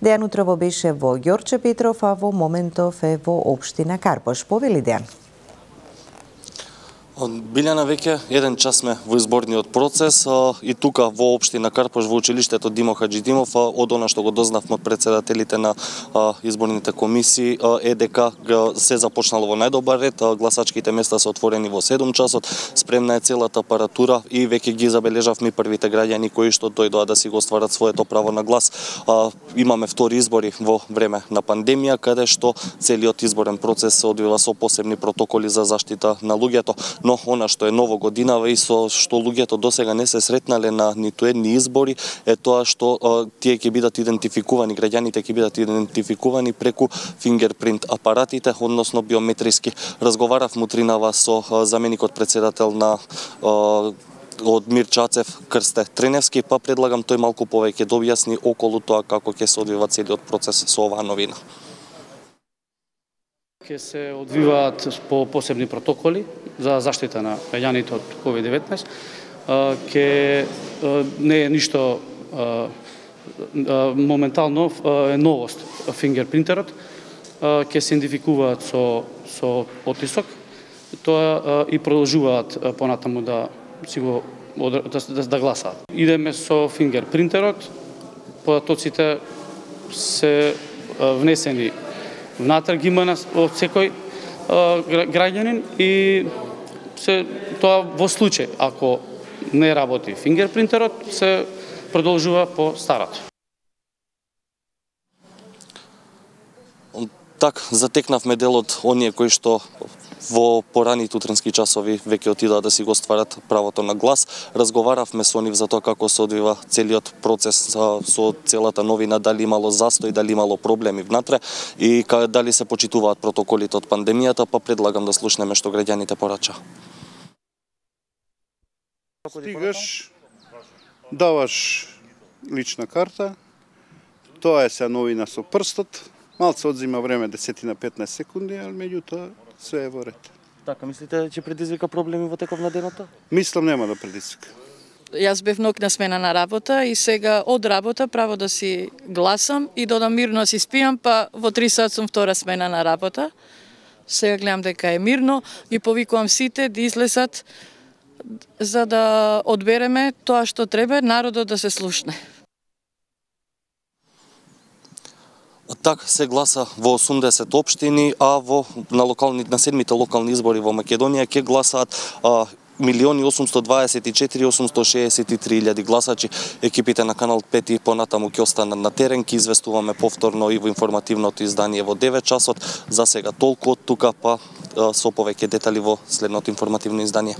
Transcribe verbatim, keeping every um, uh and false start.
Дејан утрово беше во Ѓорче Петров, а во моментов е во општина Карпош. Повели Дејан? Билјана, веќе еден час сме во изборниот процес и тука во општина Карпош во училиштето Димо Хаџидимов, од она што го дознавме од председателите на изборните комисии е дека се започнало во најдобар ред, гласачките места се отворени во седум часот, спремна е целата апаратура и веќе ги забележавме првите граѓани кои што дојдоа да си го остварат своето право на глас. Имаме втори избори во време на пандемија, каде што целиот изборен процес се одвива со посебни протоколи за заштита на луѓето. Но она што е ново годинава и со што луѓето досега не се сретнале на ниту едни избори е тоа што а, тие ќе бидат идентификувани, граѓаните ќе бидат идентификувани преку фингерпринт апаратите, односно биометриски. Разговарав мутринава со а, заменикот председател на а, од Мирчацев Крсте Треневски, па предлагам тој малку повеќе да објасни околу тоа како ќе се одвива целиот процес со оваа новина. Ке се одвиваат по посебни протоколи за заштита на граѓаните од ковид деветнаесет. Ке не е ништо моментално е новост фингерпринтерот. Ке се идентификуваат со со оттисок. Тоа и продолжуваат понатаму да си го да, да, да гласаат. Идеме со фингерпринтерот. Податоците се внесени внатре ги има од секој граѓанин и се тоа во случај ако не работи фингерпринтерот се продолжува по старото. Так, затекнавме дел од оние кои што во пораните утренски часови веќе отидоа да си го стварат правото на глас. Разговаравме со нив за тоа како се одвива целиот процес со целата новина, дали имало застој, дали имало проблеми внатре и дали се почитуваат протоколите од пандемијата, па предлагам да слушнеме што граѓаните порача. Стигаш, даваш лична карта, тоа е се новина со прстот, малце одзима време десет на петнаесет секунди, ал меѓутоа се е во ред. Така, мислите ќе предизвика проблеми во теков на денот? Мислам нема да предизвика. Јас бев нокна смена на работа и сега од работа право да си гласам и додам мирно си спијам, па во три сат сум втора смена на работа. Сега гледам дека е мирно и повикувам сите да излезат за да одбереме тоа што треба народот да се слушне. Так се гласа во осумдесет општини, а во на локални на седмите локални избори во Македонија ќе гласаат а, милиони осумсто дваесет и четири осумсто шеесет и три илјади гласачи. Екипите на Канал пет и понатаму ќе останат на терен, ќе известуваме повторно и во информативното издание во девет часот. За сега толку од тука, па со повеќе детали во следното информативно издание.